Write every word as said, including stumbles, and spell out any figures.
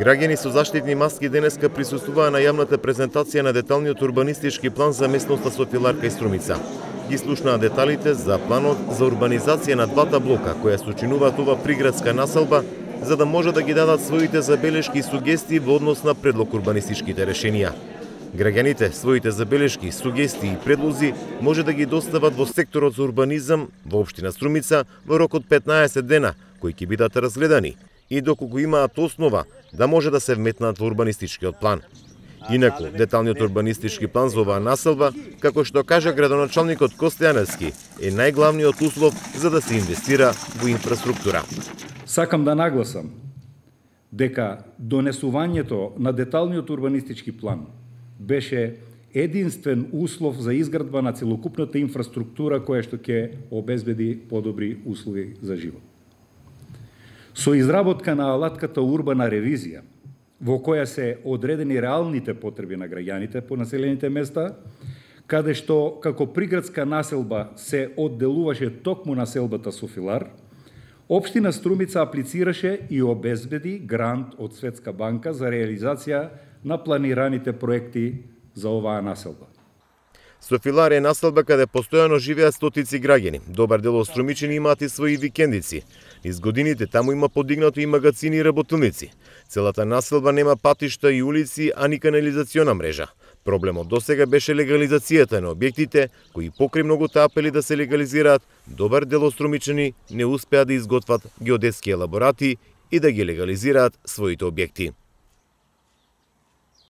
Граѓани со заштитни маски денеска присуствуваа на јавната презентација на деталниот урбанистички план за местноста Софиларка и Струмица. Ги слушнаа деталите за планот за урбанизација на двата блока која сочинуваат ова приградска населба, за да може да ги дадат своите забелешки и сугестии во однос на предлог урбанистичките решенија. Граѓаните своите забелешки, сугестии и предлози може да ги достават во секторот за урбанизам во општина Струмица во рок од петнаесет дена, кои ќе бидат разгледани и доколку имаат основа да може да се вметнат во урбанистичкиот план. Инаку, деталниот урбанистички план за оваа населба, како што кажа градоначалникот Костејаневски, е најглавниот услов за да се инвестира во инфраструктура. Сакам да нагласам дека донесувањето на деталниот урбанистички план беше единствен услов за изградба на целокупната инфраструктура која што ќе обезбеди подобри услови за живот. Со изработка на алатката урбана ревизија, во која се одредени реалните потреби на граѓаните по населените места, каде што како приградска населба се одделуваше токму населбата Софилар, општина Струмица аплицираше и обезбеди грант од Светска банка за реализација на планираните проекти за оваа населба. Софилар е населба каде постојано живеат стотици граѓани. Добар дел од струмичани имаат и своји викендици. Низ годините таму има подигнато и магацини и работилници. Целата населба нема патишта и улици, а ни канализациона мрежа. Проблемот досега беше легализацијата на објектите, кои покрај многуте апели да се легализираат, добар дел од струмичани не успеа да изготват геодетски елаборати и да ги легализираат своите објекти.